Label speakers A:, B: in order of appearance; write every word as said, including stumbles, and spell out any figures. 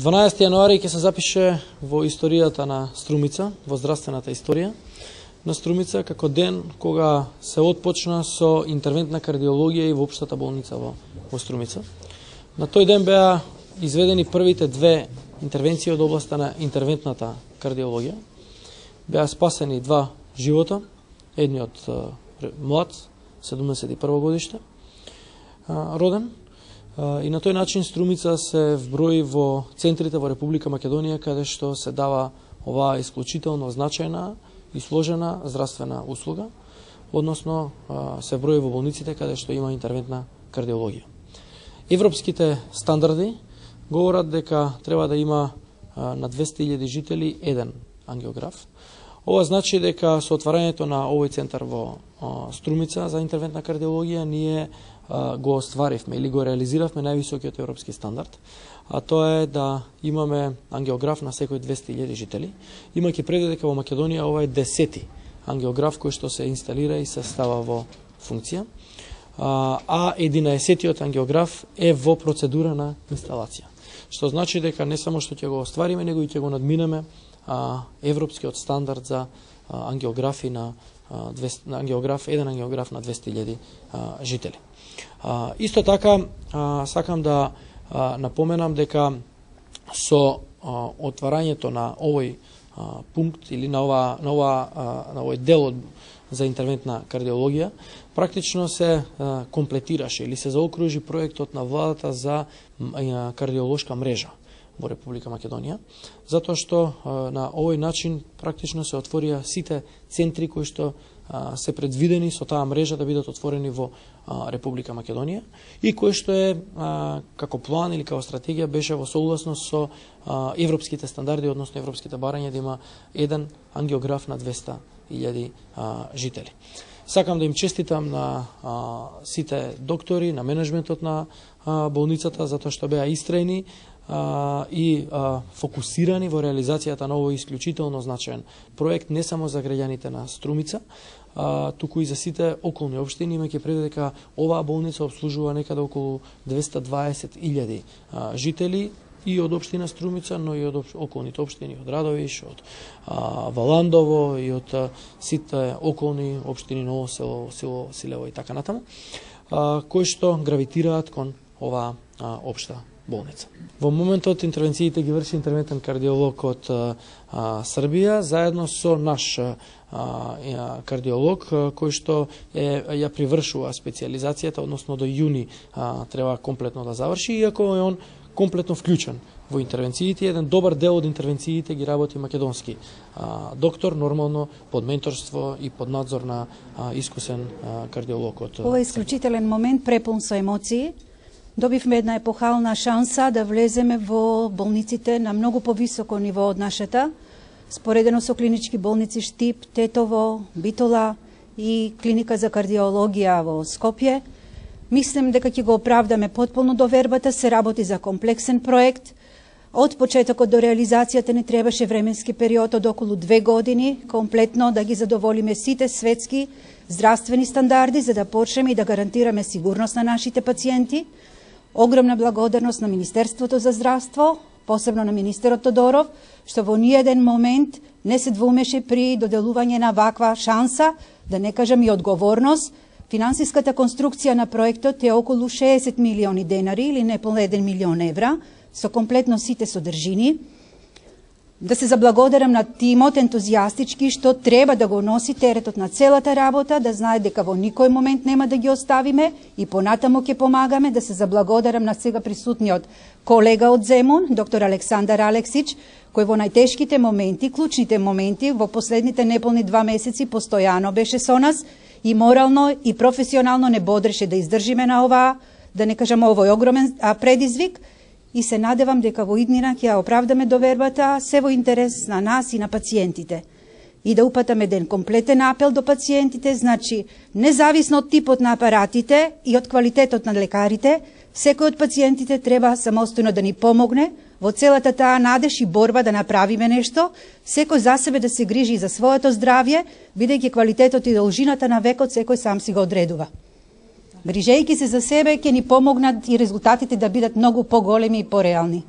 A: дванаесети јануари ќе се запише во историјата на Струмица, во здравствената историја на Струмица, како ден кога се отпочна со интервентна кардиологија и во општата болница во, во Струмица. На тој ден беа изведени првите две интервенции од областа на интервентната кардиологија. Беа спасени два живота, едниот млад, седумдесет и прво годиште, роден, и на тој начин Струмица се вброи во центрите во Република Македонија, каде што се дава оваа исклучително значајна и сложена здравствена услуга, односно се вброи во болниците каде што има интервентна кардиологија. Европските стандарди говорат дека треба да има на двесте илјади жители еден ангиограф. Ова значи дека со отварањето на овој центар во Струмица за интервентна кардиологија ние го остваривме или го реализиравме највисокиот европски стандард, а тоа е да имаме ангиограф на секој двесте илјади жители, имајќи предвид дека во Македонија ова е десети ангиограф кој што се инсталира и се става во функција, а единаесеттиот ангиограф е во процедура на инсталација. Што значи дека не само што ќе го оствариме, него и ќе го надминеме европскиот стандард за ангиографи на ангиограф, еден ангиограф на двесте илјади жители. Исто така сакам да напоменам дека со отварањето на овој пункт или на ова на ова на овој дел за интервентна кардиологија практично се комплетираше или се заокружи проектот на владата за кардиолошка мрежа во Република Македонија, затоа што на овој начин практично се отворија сите центри кои што се предвидени со таа мрежа да бидат отворени во Република Македонија и кој што е како план или како стратегија беше во согласност со европските стандарди, односно европските барања да има еден ангиограф на двесте илјади жители. Сакам да им честитам на а, сите доктори, на менеджментот на а, болницата, затоа што беа истрајни а, и а, фокусирани во реализацијата на овој исклучително значаен проект, не само за граѓаните на Струмица, а, туку и за сите околни општини, имајќи предвид дека оваа болница обслужува некаде околу двесте дваесет илјади жители, и од општина Струмица, но и од околните општини, од Радовиш, од а, Валандово и од а, сите околни општини, Ново село, село Силево и така натаму, а, кои што гравитираат кон оваа а, општа болница. Во моментот интервенциите ги врши интервентен кардиолог од а, Србија, заедно со наш а, а, кардиолог, а, кој што е, ја привршува специјализацијата, односно до јуни а, треба комплетно да заврши, иако е он комплетно вклучен во интервенциите. Еден добар дел од интервенциите ги работи македонски а, доктор, нормално под менторство и под надзор на а, искусен а, кардиолог од.
B: Ова е исклучителен момент, препун со емоции. Добивме една епохална шанса да влеземе во болниците на многу повисоко ниво од нашата, споредено со клинички болници Штип, Тетово, Битола и клиника за кардиологија во Скопје. Мислам дека ќе го оправдаме потполно довербата, се работи за комплексен проект. Од почетокот до реализацијата не требаше временски период од околу две години, комплетно да ги задоволиме сите светски здравствени стандарди, за да почнеме и да гарантираме сигурност на нашите пациенти. Огромна благодарност на Министерството за здравство, посебно на министерот Тодоров, што во ниеден момент не се двумеше при доделување на ваква шанса, да не кажам и одговорност. Финансиската конструкција на проектот е околу шеесет милиони денари или неполно еден милион евра, со комплетно сите содржини. Да се заблагодарам на тимот ентузијастички што треба да го носи теретот на целата работа, да знае дека во никој момент нема да ги оставиме и понатаму ќе помагаме. Да се заблагодарам на сега присутниот колега од Земун, доктор Александар Алексич, кој во најтешките моменти, клучните моменти, во последните неполни два месеци постојано беше со нас и морално и професионално не бодреше да издржиме на ова, да не кажам овој огромен предизвик, и се надевам дека во иднина ќе ја оправдаме довербата, се во интерес на нас и на пациентите. И да упатаме еден комплетен апел до пациентите, значи, независно од типот на апаратите и од квалитетот на лекарите, секој од пациентите треба самостојно да ни помогне во целата таа надеж и борба да направиме нешто, секој за себе да се грижи за своето здравје, бидејќи квалитетот и должината на векот секој сам си го одредува. Грижејќи се за себе ќе ни помогнат и резултатите да бидат многу поголеми и пореални.